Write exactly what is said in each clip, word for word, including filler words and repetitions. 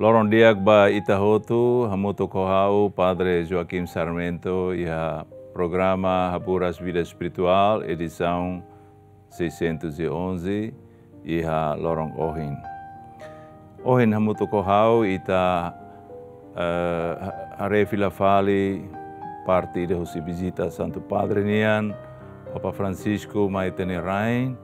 Loron di'ak ba ita hotu, hamutuk ho ha'u, Padre Joaquim Sarmento, iha programa Haburas Vida Espiritual, edisaun seiscentos e onze, iha loron ohin. Ohin hamutuk ho ha'u ita, eh, ha-, haree fila fali parte ida husi vizita Santu Padre nian, Papa Francisco mai ita-nia rain,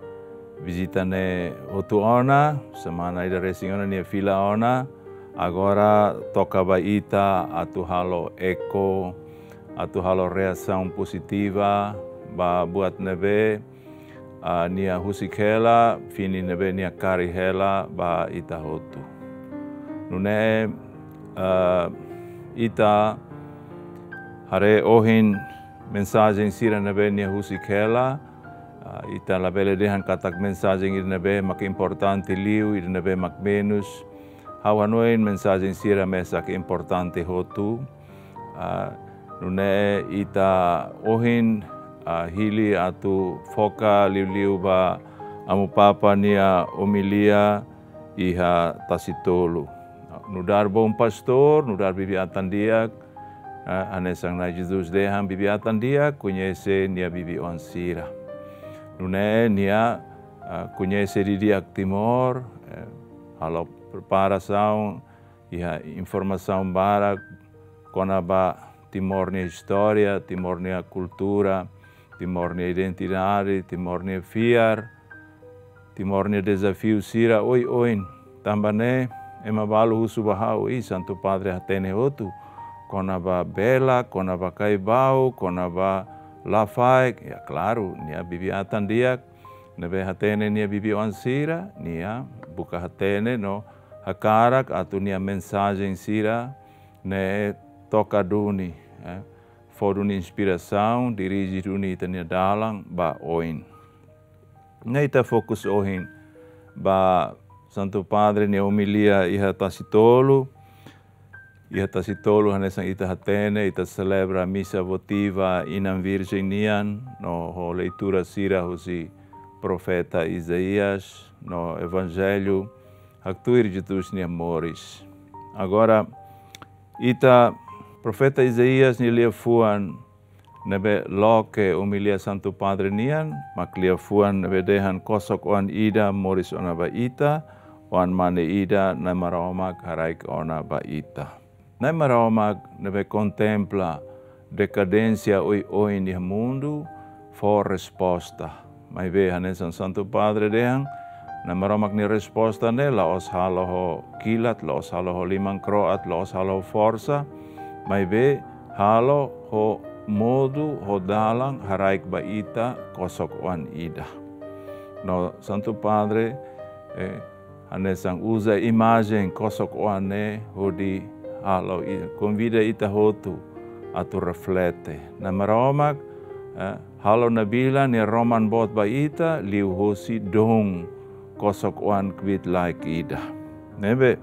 vizita ne'e hotu ona, semana ida resin ona nia fila ona, agora toka ba ita atu halo eko, atu halo reasaun pozitiva ba buat ne'ebé, ah, nia husik hela, fini ne'ebé nia kaer hela ba ita hotu. Nune'e, ah, ita haree ohin mensajen sira ne'ebé nia husik hela, ah, ita labele dehan katak mensajen ida ne'ebé mak importante liu, ida ne'ebé mak menus. Ha'u hanoin mensajen sira mesak importante hotu. Ah, nune'e ita ohin, ah, hili atu foka liuliu ba Amu Papa nia omilia iha Tasi Tolu. Nu'udar Bom Pastor, nu'udar bibi-atan di'ak, ah, hanesan Na'i Jesus dehan, bibi-atan di'ak koñese nia bibi-oan sira. Nune'e nia, ah, koñese didi'ak Timor, eh, halo preparasaun, iha informasaun barak kona-ba Timor nia istória, Timor nia kultura, Timor nia identidade, Timor nia fiar, Timor nia dezafiu sira oioin. Tanba ne'e, ema balu husu ba ha'u, i Santu Padre hatene hotu kona-ba Bela, kona-ba Caibau, kona-ba Lafaek. Ya, klaru, nia bibi-atan di'ak ne'ebé hatene nia bibi-oan sira, nia buka hatene no hakarak atu nia mensajen sira-ne'e toka duni, eh, fó duni inspirasaun, dirije duni ita-nia dalan ba oin. Ne'e ita fokus ohin ba Santu Padre nia omilia iha Tasi Tolu. Iha Tasi Tolu hanesan ita hatene, ita selebra misa votiva Inan Virjen nian, no ho leitura sira husi profeta Isaías, no Evanjellu, haktuir Jesus nia moris. Agora, ita profeta Isaías nia liafuan ne'ebé loke omilia Santu Padre nian, mak liafuan ne'ebé dehan kosok-oan ida moris ona ba ita, oan-mane ida Na'i Maromak haraik ona ba ita. Na'i Maromak ne'ebé kontempla dekadénsia oioin iha mundu, fó resposta. Maibé hanesan Santu Padre dehan, Na'i Maromak nia resposta ne'e la'ós halo ho kilat, la'ós halo ho liman kro'at, la'ós halo ho forsa, maibé halo ho modu, ho dalan haraik ba ita kosok-oan ida. No Santu Padre, eh, hanesan uza imajen kosok-oan ne'e hodi halo i-, konvida ita hotu atu reflete. Na'i Maromak, eh, halo nabilan nia roman boot ba ita liuhosi doon kosok-oan kbiit-laek ida. Ne'ebé,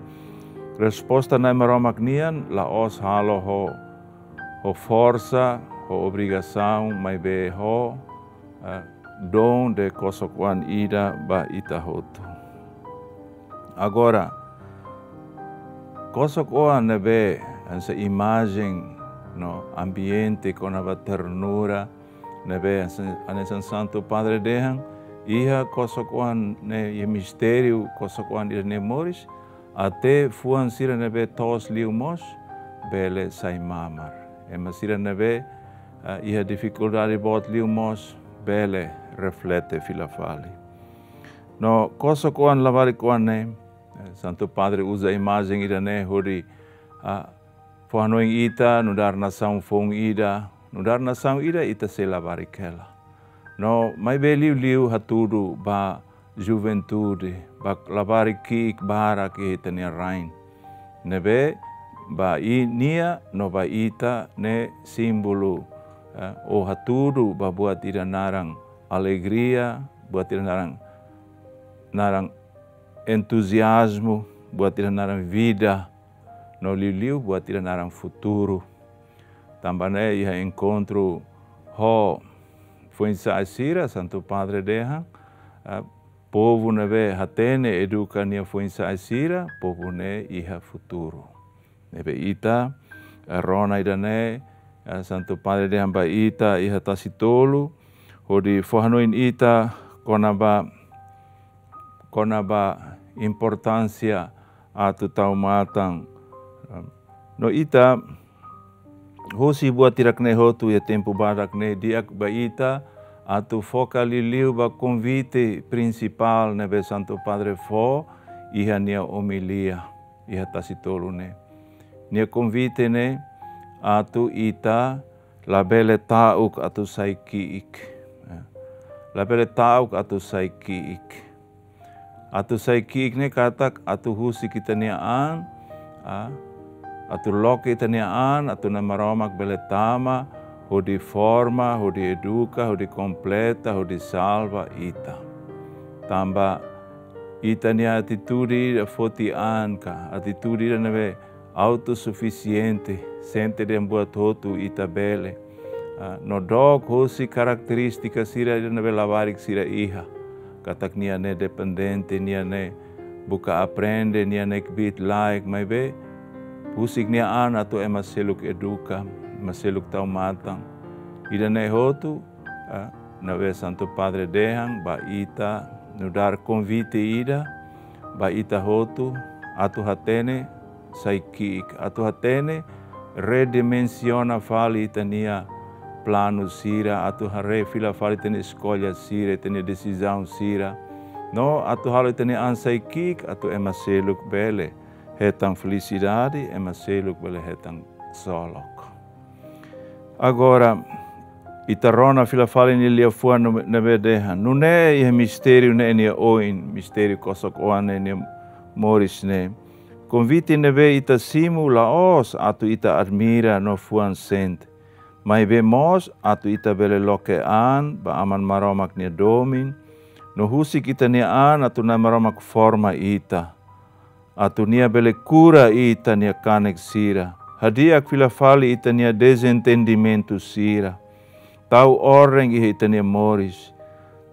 resposta Na'i Maromak nian la'ós halo ho, ho forsa, ho obrigasaun, maibé ho, eh, doon de kosok-oan ida ba ita hotu. Agora, kosok-oan ne'ebé hanesan imajen no ambiente kona-ba ternura, ne'ebé hanesan, hanesan Santu Padre dehan, iha kosok-oan ne'e, iha mistériu kosok-oan ida-ne'e moris, até fuan sira ne'ebé toos liu mós bele sai mamar. Ema sira ne'ebé, ah, iha difikuldade boot liu mós bele reflete fila fali. No kosok-oan labarik-oan ne'e, eh, Santu Padre uza imajen ida-ne'e hodi, ah, fó hanoin ita nu'udar nasaun foun ida, nu'udar nasaun ida ita sei labarik hela. No maibé liuliu hatudu ba juventude, ba labarik ki'ik barak iha ita-nia rain. Ne'ebé ba i-, nia no ba ita ne'e símbolu, eh, ou hatudu ba buat ida naran alegria, buat ida naran, naran entuziazmu, buat ida naran vida, no liuliu buat ida naran futuru. Tanba ne'e iha enkontru ho foin-sa'e sira, Santu Padre dehan, eh, povu ne'ebé hatene eduka nia foin-sa'e sira, povu ne'e iha futuru. Ne'ebé ita, eh, rona ida-ne'e, eh, Santu Padre dehan ba ita iha Tasi Tolu, hodi fó hanoin ita kona-ba, kona-ba importánsia atu tau matan. No ita, husi buat hirak-ne'e hotu iha tempu badak ne'e di'ak ba ita atu foka liuliu ba konvite prinsipál ne'ebé Santu Padre fó iha nia omilia iha Tasi Tolu ne'e. Nia konvite ne'e atu ita labele ta'uk atu sai ki'ik. Ya. Labele ta'uk atu sai ki'ik. Atu sai ki'ik ne'e katak atu husik ita-nia an, ah, atu loke ita-nia an, atu Na'i Maromak bele tama, hodi forma, hodi eduka, hodi kompleta, hodi salva ita. Tanba ita-nia atitude ida foti an ka, atitude ida ne'ebé autosufisiente, sente dehan buat hotu ita bele. Ah, no dook husi karakterístika sira ida ne'ebé labarik sira iha. Katak nia ne'e dependente, nia ne'e buka aprende, nia ne'e kbiit-laek, maibé husik nia an atu ema seluk eduka, ema seluk tau matan. Ida-ne'e hotu, ah, ne'ebé Santu Padre dehan ba ita, nu'udar konvite ida ba ita hotu, atu hatene sai ki'ik, atu hatene redimensiona fali ita-nia planu sira, atu haree fila fali ita-nia eskolla sira, ita-nia desizaun sira. No atu halo ita-nia an sai ki'ik, atu ema seluk bele hetan felisidade, ema seluk bele hetan ksolok. Agora, ita rona fila fali nia liafuan no-, ne'ebé dehan: Nune'e iha mistériu ne'e nia oin, mistériu kosok-oan ne'e nia moris ne'e, konvite ne'ebé ita simu la'ós atu ita admira no fuan sente, maibé mós atu ita bele loke an ba Aman Maromak nia domin, no husik ita-nia an atu Na'i Maromak forma ita, atu nia bele kura ita-nia kanek sira, hadi'a fila fali ita-nia dezentendimentu sira, tau orden iha ita-nia moris,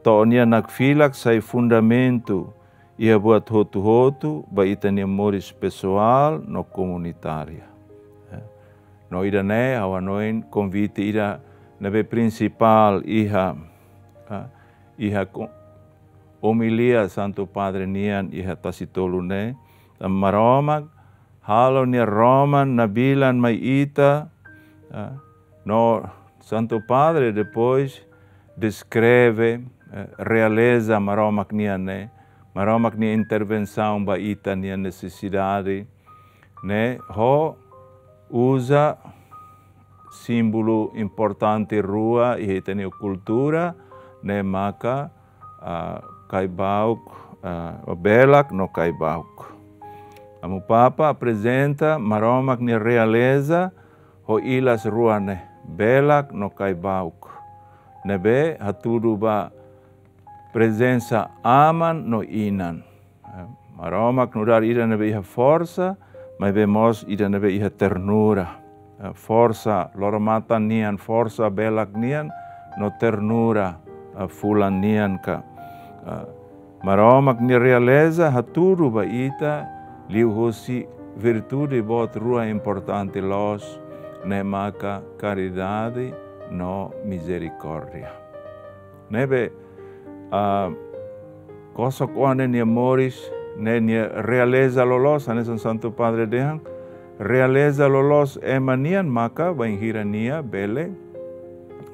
to'o nia nakfilak sai fundamentu iha buat hotu-hotu ba ita-nia moris pesoál no komunitária. Eh, no ida-ne'e ha'u hanoin konvite ida ne'ebé prinsipál iha, ah, iha ko-, omilia Santu Padre nian iha Tasi Tolu ne'e, Maromak halo nia roman nabilan mai ita, ah, no Santu Padre depois deskreve, eh, realeza Maromak nian ne'e, Maromak nia intervensaun ba ita-nia nesesidade ne'e, ho uza símbolu importante rua iha ita-nia kultura, ne'e maka, ah, kaibauk, ah, belak no kaibauk. Amu Papa aprezenta Maromak nia realeza ho ilas rua ne'e, belak no kaibauk, ne'ebé hatudu ba prezensa aman no inan. Eh, Maromak nu'udar ida ne'ebé iha forsa, maibé mós ida ne'ebé iha ternura. Eh, forsa loro-matan nian, forsa belak nian, no ternura, eh, fulan nian ka. Eh, Maromak nia realeza hatudu ba ita liuhusi virtude boot rua importante loos, ne'e maka karidade no mizerikórdia. Ne'ebé, ah, kosok-oan ne'e nia moris, ne'e nia realeza loloos, hanesan Santu Padre dehan, realeza loloos ema nian maka bainhira nia bele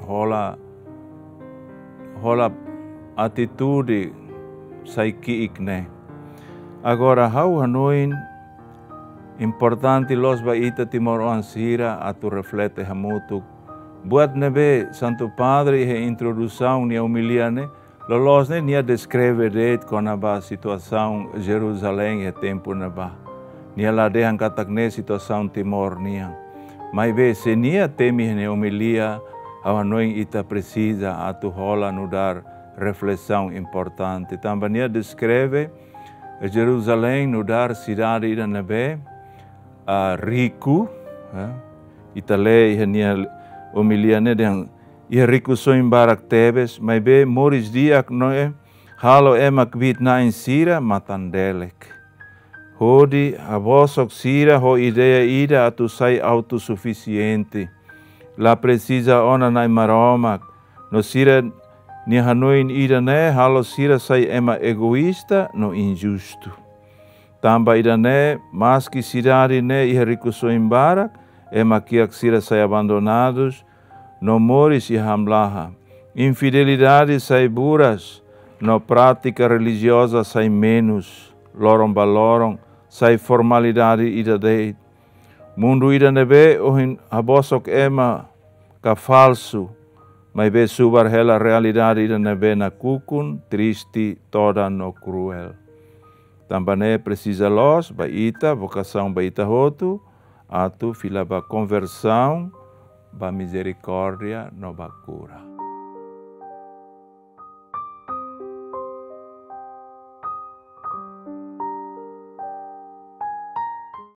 hola, hola atitude sai ki'ik ne'e. Agora ha'u hanoin importante loos ba ita timoroan sira atu reflete hamutuk. Buat ne'ebé Santu Padre iha introdusaun nia omilia ne'e, loloos ne'e nia deskreve de'it kona-ba situasaun Jeruzalein iha tempu ne'ebá. Nia la dehan katak ne'e situasaun Timor nian. Maibé se nia temi iha nia omilia, ha'u hanoin ita presiza atu hola nu'udar reflesaun importante. Tanba nia deskreve Jeruzalein nu'udar sidade ida ne'ebé, ah, riku, eh, ita lee iha nia omilia ne'e dehan iha rikusoin barak tebes, maibé moris di'ak ne'e halo ema kbiit-na'in sira matan-delek, hodi habosok sira ho ideia ida atu sai autosufisiente. La presiza ona Na'i Maromak, no sira-nia hanoin ida-ne'e halo sira sai ema egoísta no injustu. Tanba ida-ne'e, maski sidade ne'e iha rikusoin barak, ema kiak sira sai abandonadus no moris iha hamlaha. Infidelidade sai buras, no prátika relijioza sai menus, loron ba loron sai formalidade ida de'it. Mundu ida ne'ebé ohin habosok ema ka falsu, maibé subar hela realidade ida ne'ebé nakukun, triste, todan no kruél. Tanba ne'e presiza loos ba ita, vokasaun ba ita hotu, atu fila ba konversaun, ba mizerikórdia no ba kura.